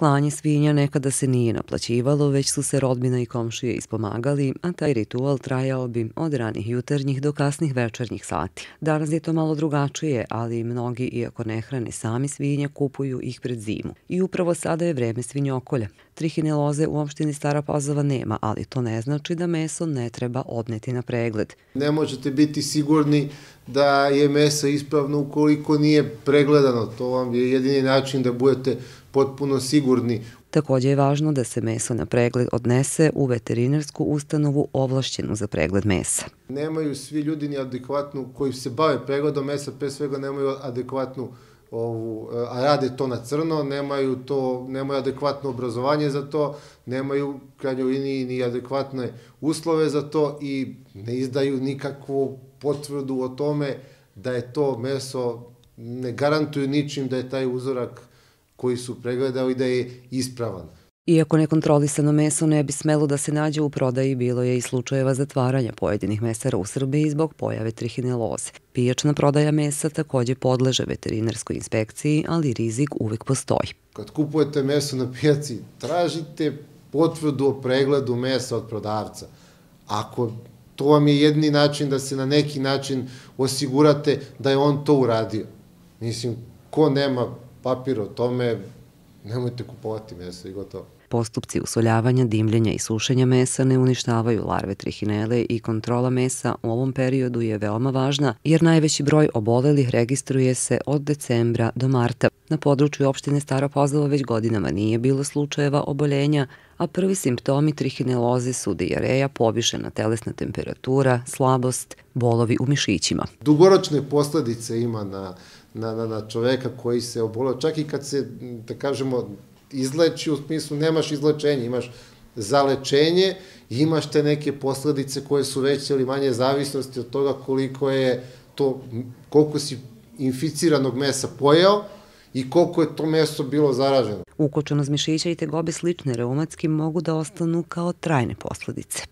Klanje svinja nekada se nije naplaćivalo, već su se rodbina i komšije ispomagali, a taj ritual trajao bi od ranih jutarnjih do kasnih večernjih sati. Danas je to malo drugačije, ali mnogi, iako ne hrane sami svinje, kupuju ih pred zimu. I upravo sada je vreme svinjokolja. Trihine loze u opštini Stara Pazova nema, ali to ne znači da meso ne treba odneti na pregled. Ne možete biti sigurni da je meso ispravno ukoliko nije pregledano. To vam je jedini način da budete potpuno sigurni. Također je važno da se meso na pregled odnese u veterinarsku ustanovu ovlašćenu za pregled mesa. Nemaju svi ljudi ni adekvatnu, koji se bave pregledom mesa, pre svega nemaju adekvatnu a rade to na crno, nemaju adekvatno obrazovanje za to, nemaju krajnjoj liniji ni adekvatne uslove za to i ne izdaju nikakvu potvrdu o tome da je to meso, ne garantuju ničim da je taj uzorak koji su pregledali da je ispravan. Iako nekontrolisano meso ne bi smelo da se nađe u prodaji, bilo je i slučajeva zatvaranja pojedinih mesara u Srbiji zbog pojave trihine loze. Pijačna prodaja mesa također podleže veterinarskoj inspekciji, ali rizik uvek postoji. Kad kupujete meso na pijaci, tražite potvrdu o pregledu mesa od prodavca. Ako to vam je jedini način da se na neki način osigurate da je on to uradio. Mislim, ko nema papir o tome, nemojte kupovati meso i gotovo. Postupci usoljavanja, dimljenja i sušenja mesa ne uništavaju larve trihinele i kontrola mesa u ovom periodu je veoma važna jer najveći broj obolelih registruje se od decembra do marta. Na području opštine Stara Pazova već godinama nije bilo slučajeva oboljenja, a prvi simptomi trihineloze su dijareja, povišena telesna temperatura, slabost, bolovi u mišićima. Dugoročne posledice ima na čoveka koji se oboleo, čak i kad se, da kažemo, izleči, u smislu nemaš izlečenje, imaš zalečenje i imaš te neke posledice koje su veće ili manje zavisnosti od toga koliko si inficiranog mesa pojeo i koliko je to meso bilo zaraženo. Ukočenost mišića i tegobe slične reumatskim mogu da ostanu kao trajne posledice.